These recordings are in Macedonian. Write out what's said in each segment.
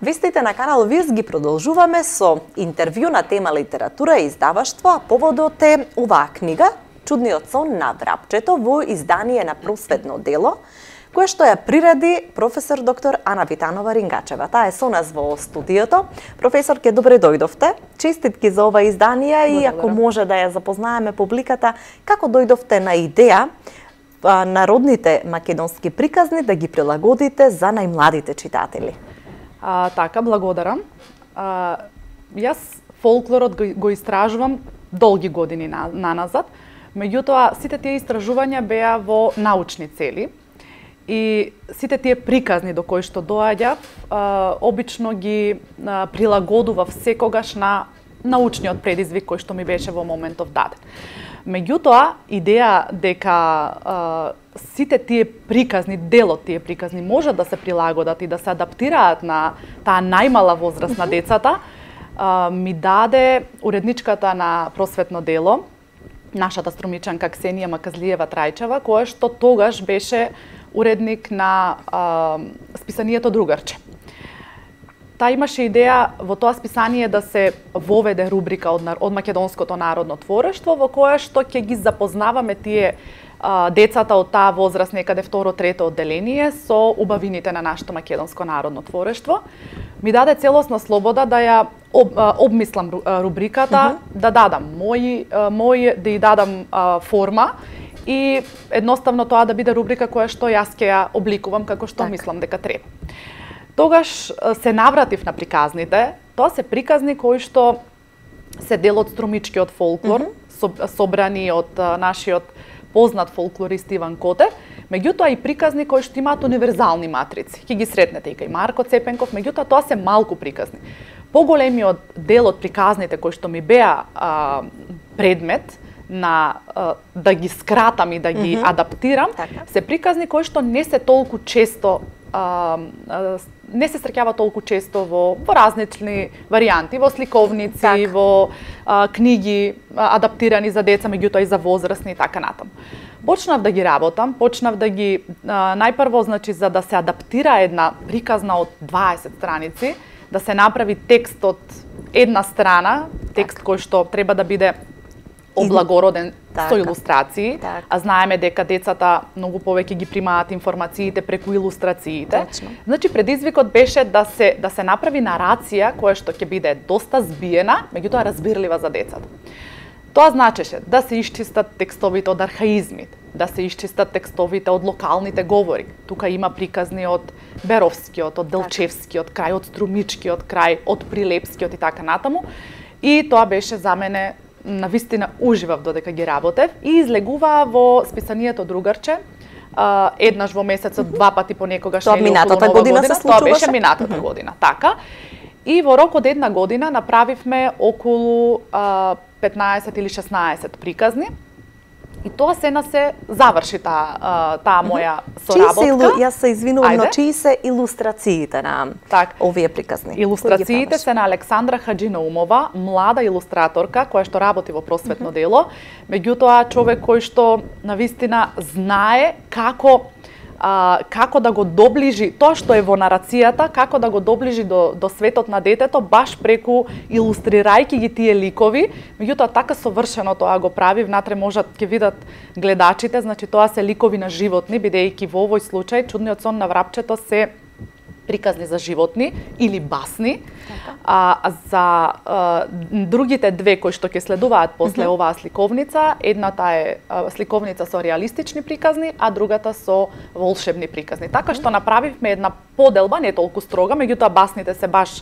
Вестите на канал ВИС ги продолжуваме со интервју на тема литература и издаваштво, а поводот е оваа книга Чудниот сон на врапчето во издание на Просветно дело, кое што ја приреди професор доктор Ана Витанова-Рингачева. Таа е со нас во студиото. Професорке, добре дојдовте. Честитки за ова издание и ако може да ја запознаеме публиката, како дојдовте на идеја народните македонски приказни да ги прилагодите за најмладите читатели? Така, благодарам. Јас фолклорот го истражувам долги години наназад, меѓутоа сите тие истражувања беа во научни цели и сите тие приказни до кои што доаѓав, обично ги прилагодував секогаш на научниот предизвик кој што ми беше во моментов даден. Меѓутоа, идеја дека сите тие приказни, дел од тие приказни може да се прилагодат и да се адаптираат на таа најмала возраст на децата, ми даде уредничката на Просветно дело, нашата струмичанка Ксенија Маказлиева Трајчева, која што тогаш беше уредник на списанието Другарче. Таа имаше идеја во тоа списание да се воведе рубрика од македонското народно творештво, во која што ќе ги запознаваме тие децата од таа возраст, некаде второ-трето одделение, со убавините на нашето македонско народно творештво. Ми даде целосна слобода да ја обмислам рубриката, да дадам да ја дадам форма и едноставно тоа да биде рубрика која што јас ќе ја обликувам како што мислам дека треба. Тогаш се навратив на приказните. Тоа се приказни кои што се дел од струмичкиот фолклор, собрани од нашиот познат фолклорист Иван Котев, меѓутоа и приказни кои што имаат универзални матрици. Ќе ги сретнете и кај Марко Цепенков, меѓутоа тоа се малку приказни. Поголемиот дел од приказните кои што ми беа предмет на да ги скратам и да ги адаптирам, се приказни кои што не се толку често не се среќава толку често во различни варијанти, во сликовници, во книги адаптирани за деца, меѓутоа и за возрастни и така натаму. Почнав да ги работам, почнав да ги најпрво, значи, за да се адаптира една приказна од 20 страници, да се направи текст од една страна, текст кој што треба да биде облагороден со илустрации, а знаеме дека децата многу повеќе ги примаат информациите преку илустрациите. Значи предизвикот беше да се направи нарација која што ќе биде доста збиена, меѓутоа разбирлива за децата. Тоа значеше да се исчистат текстовите од архаизмите, да се исчистат текстовите од локалните говори. Тука има приказни од Беровскиот, од Делчевскиот крај, од Струмичкиот крај, од Прилепскиот и така натаму. И тоа беше за мене навистина уживав додека ги работев и излегуваа во списанието Другарче, еднаш во месецот, два пати понекогаш, тоа минатата година се случуваше. Тоа беше минатата година, така. И во рок од една година направивме околу 15 или 16 приказни. И тоа сена се заврши таа моја соработка. Јас се извинувам, но чии се илустрациите на овие приказни? Илустрациите се на Александра Хаджинаумова, млада илустраторка која што работи во Просветно дело, меѓутоа човек кој што навистина знае како да го доближи тоа што е во нарацијата, како да го доближи до светот на детето, баш преку илустрирајќи ги тие ликови, меѓутоа така совршено тоа го прави, внатре можат ќе видат гледачите, значи тоа се ликови на животни, бидејќи во овој случај Чудниот сон на врапчето се приказни за животни или басни. За другите две кои што ќе следуваат после оваа сликовница, едната е сликовница со реалистични приказни, а другата со волшебни приказни. Така што направивме една поделба, не толку строга, меѓутоа басните се баш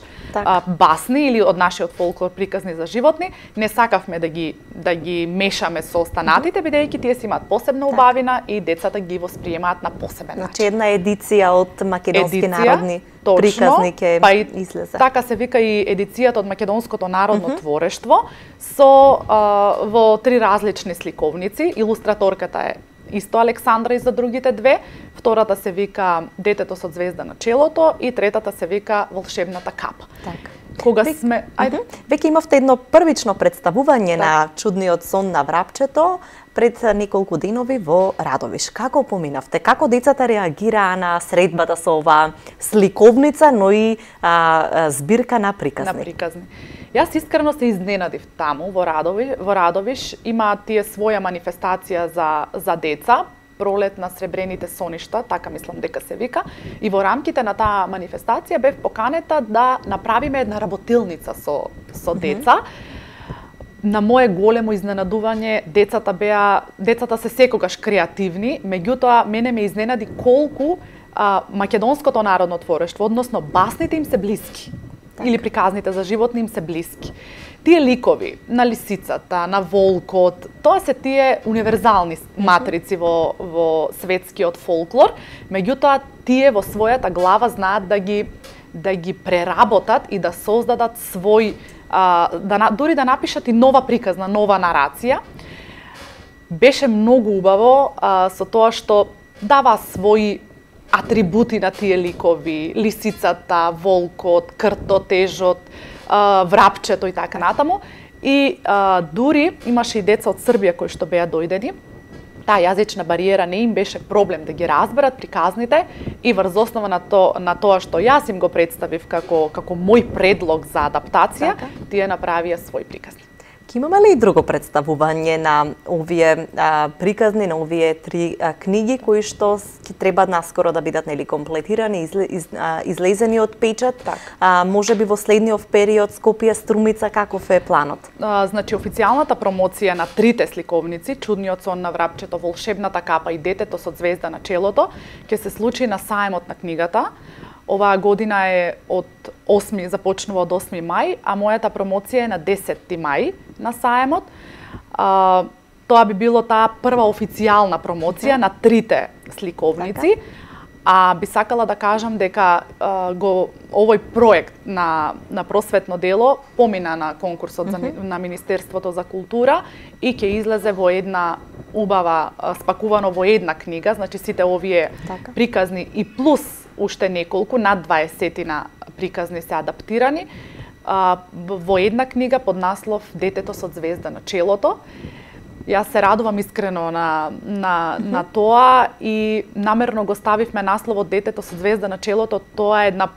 басни или од нашиот фолклор приказни за животни. Не сакавме да ги мешаме со останатите, бидејќи тие си имаат посебна убавина и децата ги восприемаат на посебен начин. Значи една едиција од македонски народни приказни ќе излезе. Така се вика и едицијата од македонското народно творештво со во три различни сликовници. Илустраторката е исто Александра и за другите две. Втората се вика Детето со звезда на челото и третата се вика Волшебната капа. Кога сме... Веќе имавте едно првично представување на Чудниот сон на врапчето пред неколку денови во Радовиш. Како поминавте? Како децата реагираа на средбата со оваа сликовница, но и збирка на приказни? Јас искрено се изненадив таму во Радовиш. Има тие своја манифестација за деца, пролет на сребрените соништа, така мислам дека се вика, и во рамките на таа манифестација бев поканета да направиме една работилница со деца. На мое големо изненадување, децата се секогаш креативни, меѓутоа мене ме изненади колку македонското народно творештво, односно басните им се блиски. Или приказните за животни им се блиски. Тие ликови на лисицата, на волкот, тоа се тие универзални матрици во светскиот фолклор, меѓутоа тие во својата глава знаат да ги преработат и да создадат свој, дури да напишат и нова приказна, нова нарација. Беше многу убаво со тоа што дава своји атрибути на тие ликови, лисицата, волкот, кртотежот, врапчето и така натаму. И дури имаше и деца од Србија кои што беа дојдени. Таа јазична бариера не им беше проблем да ги разберат приказните и врз основа на тоа што јас им го представив како мој предлог за адаптација, тие направија свој приказни. Имаме ли и друго представување на овие приказни, на овие 3 книги кои што ќе треба наскоро да бидат комплетирани, излезени од печат? Може би во следниот период Скопје, Струмица, каков е планот? Значи официјалната промоција на 3 сликовници, Чудниот сон на врапчето, Волшебната капа и Детето со ѕвезда на челото, ќе се случи на саемот на книгата. Оваа година е започнува од 8 мај, а мојата промоција е на 10 мај на саемот. Тоа би било таа прва официјална промоција на 3 сликовници. А би сакала да кажам дека овој проект на просветно дело помина на конкурсот на Министерството за култура и ќе излезе во една убава, спакувано во една книга, значи сите овие приказни и плюс уште неколку, над 20 приказни се адаптирани во една книга под наслов Детето со ѕвезда на челото. Јас се радувам искрено на тоа и намерно го ставивме насловот Детето со ѕвезда на челото. Тоа е една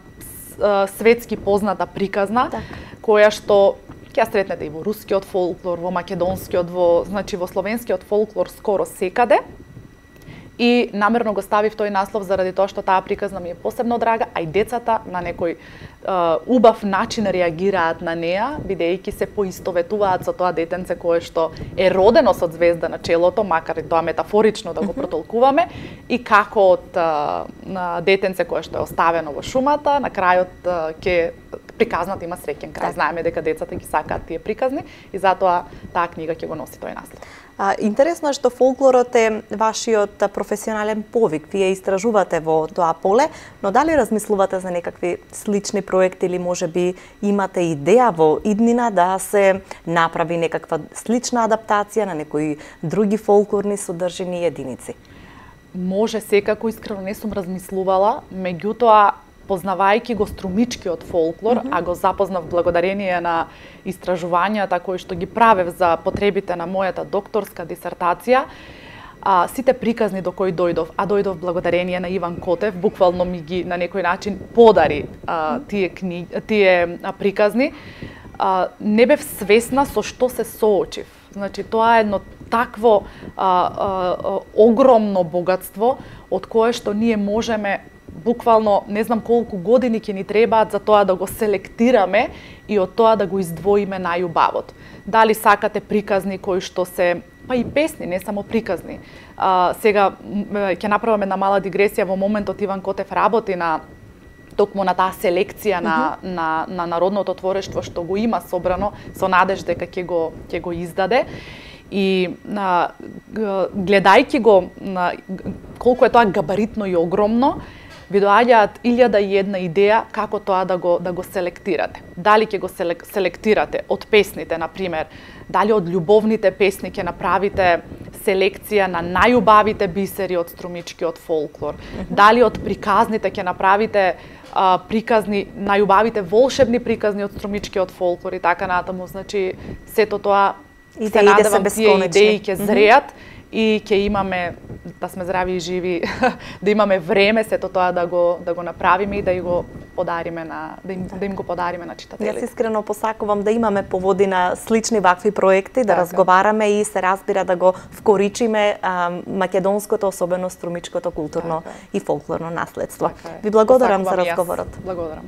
светски позната приказна, која што ќе сретнете и во рускиот фолклор, во македонскиот, значи во словенскиот фолклор скоро секаде. И намерно го ставив тој наслов заради тоа што таа приказна ми е посебно драга, а и децата на некој убав начин реагираат на неа, бидејќи се поистоветуваат со тоа детенце кое што е родено со ѕвезда на челото, макар и тоа метафорично да го протолкуваме, и како од детенце кое што е оставено во шумата, на крајот ќе приказната има среќен крај. Знаеме дека децата ги сакаат тие приказни и затоа таа книга ќе го носи тој наслов. Интересно е што фолклорот е вашиот професионален повик. Вие истражувате во тоа поле, но дали размислувате за некакви слични проекти или можеби имате идеја во иднина да се направи некаква слична адаптација на некои други фолклорни содржини и единици? Може, секако, искрено не сум размислувала, меѓутоа познавајќи го струмичкиот фолклор, а го запознав благодарение на истражувањата кои што ги правев за потребите на мојата докторска дисертација, сите приказни до кои дојдов, а дојдов благодарение на Иван Котев, буквално ми ги на некој начин подари тие приказни, не бев свесна со што се соочив. Значи, тоа е едно такво огромно богатство од кое што ние можеме буквално не знам колку години ќе ни требаат за тоа да го селектираме и од тоа да го издвоиме најубавот. Дали сакате приказни кои што се, па и песни, не само приказни. Сега ќе направиме една мала дигресија, во моментот Иван Котев работи токму на таа селекција на народното творештво што го има собрано со надеж дека ќе го издаде. И гледајќи го колку е тоа габаритно и огромно, ви доаѓаат 1001 идеја како тоа да го селектирате. Дали ќе го селектирате од песните, на пример, дали од љубовните песни ќе направите селекција на најубавите бисери од струмичкиот фолклор, дали од приказните ќе направите приказни, најубавите волшебни приказни од струмичкиот фолклор и така натаму. Значи, сето тоа се надевам тие идеи ќе зреат и ќе имаме, да сме здрави и живи, да имаме време сето тоа да го направиме и да го подариме да им го подариме на читателите. Јас искрено посакувам да имаме поводина слични вакви проекти, да разговараме и се разбира да го вкоричиме македонското, особено струмичкото културно и фолклорно наследство. Ви благодарам за разговорот. Благодарам.